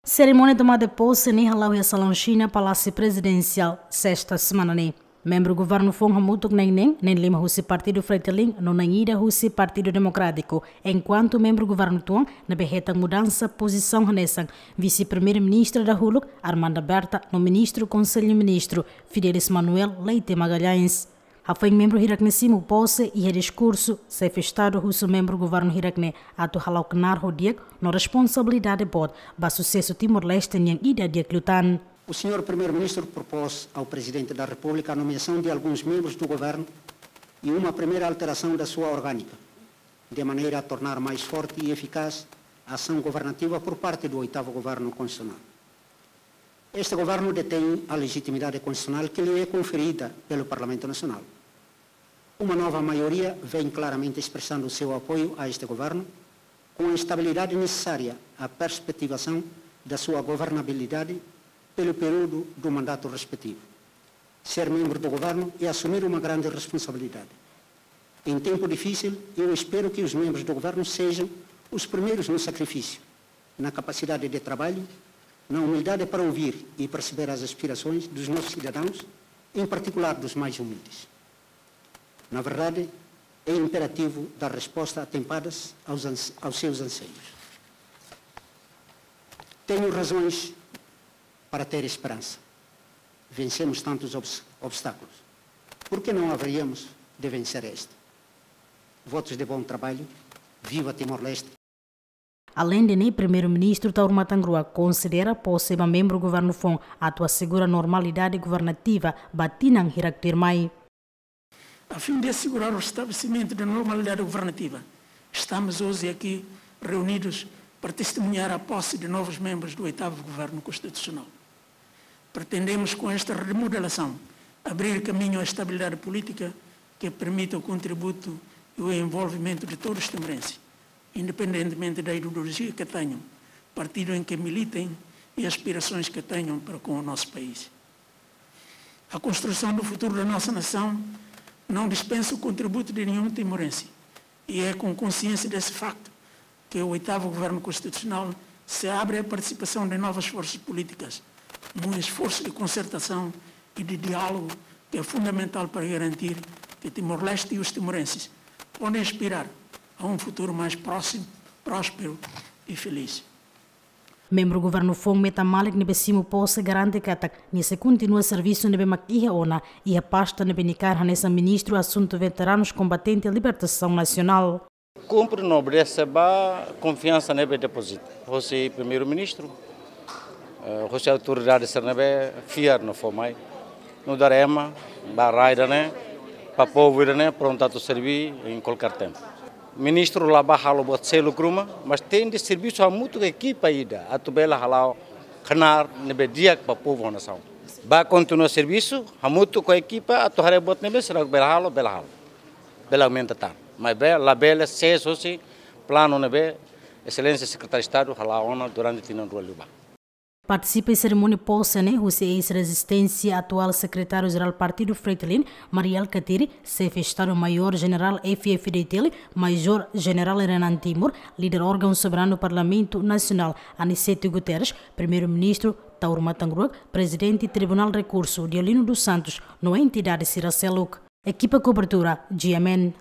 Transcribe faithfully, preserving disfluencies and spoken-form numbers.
Serimónia tomada de pose ne'e hala'o iha Salaun Xina, Palásiu Prezidensiál, sesta semana ne'e. Membru governu foun hamutuk na'in neen, neen lima husi Partidu Fretilin, no na'in ida husi Partidu Demokrátiku, enkuantu membru governu tuan ne'ebé hetan mudansa pozisaun hanesan Vise-Primeiru-Ministra dahuluk, Armanda Berta, no Ministru Konsellu Ministru, Fidelis Manuel Leite Magalhães. Hafoin membru hirak ne'e simu pose, iha diskursu, Xefe Estadu husu membru governu hirak ne'e atu hala'o knaar ho di'ak no responsabilidade boot ba susesu Timor-Leste nian ida di'ak liután. O senhor Primeiro-Ministro propôs ao Presidente da República a nomeação de alguns membros do governo e uma primeira alteração da sua orgânica, de maneira a tornar mais forte e eficaz a ação governativa por parte do oitavo Governo Constitucional. Este governo detém a legitimidade constitucional que lhe é conferida pelo Parlamento Nacional. Uma nova maioria vem claramente expressando o seu apoio a este governo, com a estabilidade necessária à perspectivação da sua governabilidade pelo período do mandato respectivo. Ser membro do governo é assumir uma grande responsabilidade. Em tempo difícil, eu espero que os membros do governo sejam os primeiros no sacrifício, na capacidade de trabalho, na humildade para ouvir e perceber as aspirações dos nossos cidadãos, em particular dos mais humildes. Na verdade, é imperativo dar resposta atempadas aos ans-, aos seus anseios. Tenho razões para ter esperança. Vencemos tantos obs-, obstáculos. Por que não haveríamos de vencer este? Votos de bom trabalho. Viva Timor-Leste! Aleinde ne'e, Primeiru-Ministru Taur Matan Ruak konsidera pose ba membru governu foun atu asegura normalidade governativa ba tinan hirak tuirmai. A fim de assegurar o restabelecimento da normalidade governativa, estamos hoje aqui reunidos para testemunhar a posse de novos membros do oitavo Governo Constitucional. Pretendemos, com esta remodelação, abrir caminho à estabilidade política que permita o contributo e o envolvimento de todos os timorenses, independentemente da ideologia que tenham, partido em que militem e aspirações que tenham para com o nosso país. A construção do futuro da nossa nação não dispensa o contributo de nenhum timorense, e é com consciência desse facto que o oitavo Governo Constitucional se abre à participação de novas forças políticas, num esforço de concertação e de diálogo que é fundamental para garantir que Timor-Leste e os timorenses podem aspirar a um futuro mais próximo, próspero e feliz. Membru governu foun Meta Malik ne'ebé simu pose garante katak nia sei kontinua servisu ne'ebé mak iha ona, iha pasta ne'ebé nia kaer hanesan Ministru Asuntu Veteranus Kombatente Libertasaun Nasionál. Kumpre no obedese ba konfiansa ne'ebé depozita hosi Primeiru-Ministru, eh, hosi autoridade sira ne'ebé fiar no fó mai. Nu'udar ema ba rai ida-ne'e, ba povu ida-ne'e, prontu atu serbí em qualquer tempo. Ministru la bá halo buat seluk ruma, mas tenke servisu hamutuk ho ekipa ida atu bele hala'o knaar ne'ebé di'ak ba povu ho nasaun. Bá kontinua servisu hamutuk ho ekipa atu haree buat ne'ebé seidauk bele halo, bele halo. Bele aumenta tan. Maibé labele sees hosi planu ne'ebé Exelénsia Sekretáriu Estadu hala'o ona durante tinan rua liubá. Partisipa iha serimónia pose ne'e husi eis-rezisténsia, atuál Sekretáriu-Jerál Partidu Fretilin, Mari Alkatiri, Xefe Estadu-Maiór Jenerál F-FDTL, Majór Jenerál Renan Timur, líder órgaun soberanu Parlamentu Nasionál, Aniceto Guterres, Primeiru-Ministru Taur Matan Ruak, Prezidente Tribunál Rekursu, Deolino dos Santos, no entidade sira seluk. Ekipa kobertura, G M N.